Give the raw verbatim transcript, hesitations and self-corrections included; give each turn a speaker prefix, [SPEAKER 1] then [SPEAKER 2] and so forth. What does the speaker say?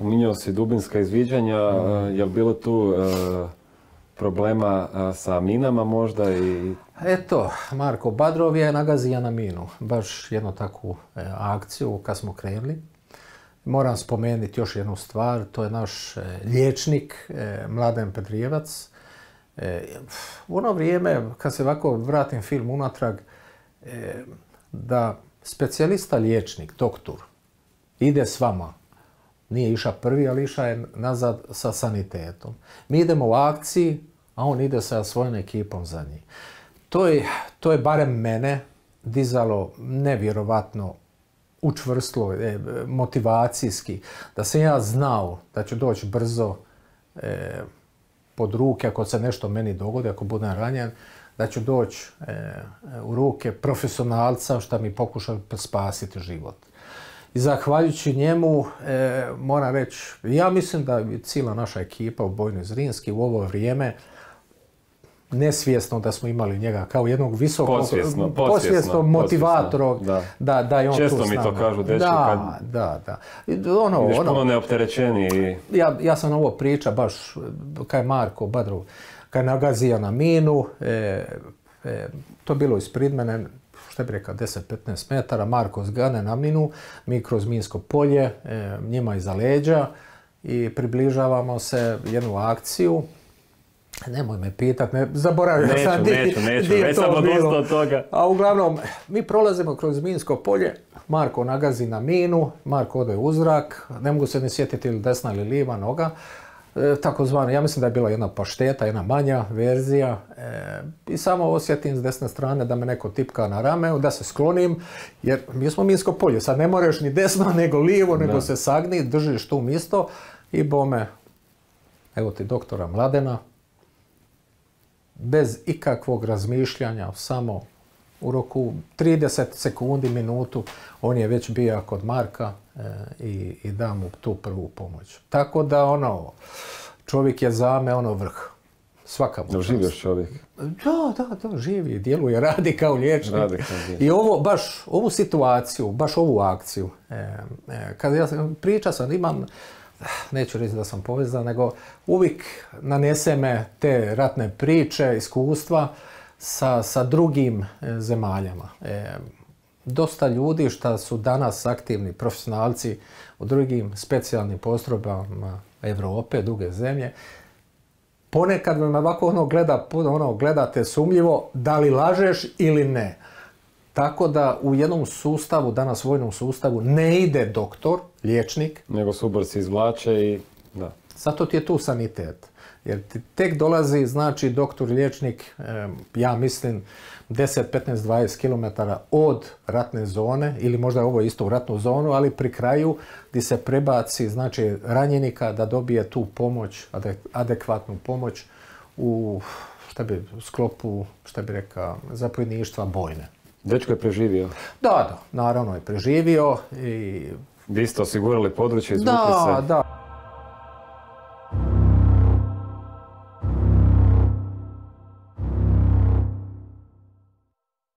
[SPEAKER 1] Spominjao si dubinska izviđanja, mm. je li bilo tu uh, problema uh, sa minama možda? I...
[SPEAKER 2] Eto, Marko Badrov je nagazio na minu, baš jednu takvu e, akciju kad smo krenuli. Moram spomenuti još jednu stvar, to je naš e, liječnik e, Mladen Pedrijevac. E, u ono vrijeme, kad se ovako vratim film unatrag, e, da specijalista liječnik, doktor, ide s vama. Nije iša prvi, ali iša je nazad sa sanitetom. Mi idemo u akciji, a on ide sa svojom ekipom za njih. To je, to je barem mene dizalo nevjerovatno učvrstilo, e, motivacijski, da sam ja znao da ću doći brzo e, pod ruke ako se nešto meni dogodi, ako budem ranjen, da ću doći e, u ruke profesionalca što mi pokuša spasiti život. I zahvaljujući njemu, e, moram reći, ja mislim da je cijela naša ekipa u Bojnoj Zrinski u ovo vrijeme nesvjesno da smo imali njega kao jednog visokog,
[SPEAKER 1] posvjesno,
[SPEAKER 2] posvjesno motivatora, da. Da, da je on
[SPEAKER 1] često
[SPEAKER 2] tu s
[SPEAKER 1] mi
[SPEAKER 2] nama.
[SPEAKER 1] to kažu, dečki,
[SPEAKER 2] da,
[SPEAKER 1] kad
[SPEAKER 2] da, da. Ono,
[SPEAKER 1] ideš
[SPEAKER 2] ono,
[SPEAKER 1] puno neopterećeni.
[SPEAKER 2] Ja, ja sam ovo priča baš, kaj je Marko Badrov, kaj je nagazio na minu, e, e, to je bilo ispred mene, što bi rekao, deset do petnaest metara, Marko zgane na minu, mi kroz minsko polje, e, njima iza leđa i približavamo se jednu akciju. Nemoj me pitat, ne, zaboravio
[SPEAKER 1] neću,
[SPEAKER 2] sam di,
[SPEAKER 1] neću, neću,
[SPEAKER 2] di je
[SPEAKER 1] već
[SPEAKER 2] to
[SPEAKER 1] sam
[SPEAKER 2] bilo.
[SPEAKER 1] odustao od toga.
[SPEAKER 2] A uglavnom, mi prolazimo kroz minsko polje, Marko nagazi na minu, Marko ode u zrak, ne mogu se ne sjetiti ili desna ili lijeva noga, e, takozvano, ja mislim da je bila jedna pašteta, jedna manja verzija, e, i samo osjetim s desne strane da me neko tipka na rame, da se sklonim, jer mi smo minsko polje, sad ne moraš ni desno, nego lijevo, nego da. Se sagni, držiš tu misto i bome, evo ti doktora Mladena, bez ikakvog razmišljanja, samo u roku trideset sekundi, minutu, on je već bio kod Marka e, i, i da mu tu prvu pomoć. Tako da ono, čovjek je za me ono vrh. Svaka mu.
[SPEAKER 1] Da živješ čovjek?
[SPEAKER 2] Da, da, da, živi, djeluje, radi kao liječnik.
[SPEAKER 1] Radi kao liječnik.
[SPEAKER 2] I ovo, baš ovu situaciju, baš ovu akciju, e, e, kad ja sam, priča sam, imam, neću reći da sam povezan, nego uvijek nanese me te ratne priče, iskustva sa, sa drugim e, zemaljama. E, dosta ljudi što su danas aktivni profesionalci u drugim specijalnim postrojbama Europe, druge zemlje, ponekad me ovako ono gleda, ono gledate sumnjivo da li lažeš ili ne. Tako da u jednom sustavu, danas vojnom sustavu, ne ide doktor, liječnik.
[SPEAKER 1] Nego suborci izvlače i da.
[SPEAKER 2] Zato ti je tu sanitet. Jer ti tek dolazi, znači, doktor, liječnik, ja mislim, deset, petnaest, dvadeset kilometara od ratne zone, ili možda ovo isto u ratnu zonu, ali pri kraju gdje se prebaci, znači, ranjenika da dobije tu pomoć, adekvatnu pomoć u, šta bi, u sklopu, šta bi rekao, zapovjedništva bojne.
[SPEAKER 1] Dečko je preživio?
[SPEAKER 2] Da, da, naravno je preživio i...
[SPEAKER 1] Vi ste osigurali područje, izvukli
[SPEAKER 2] da,
[SPEAKER 1] se?
[SPEAKER 2] Da, da.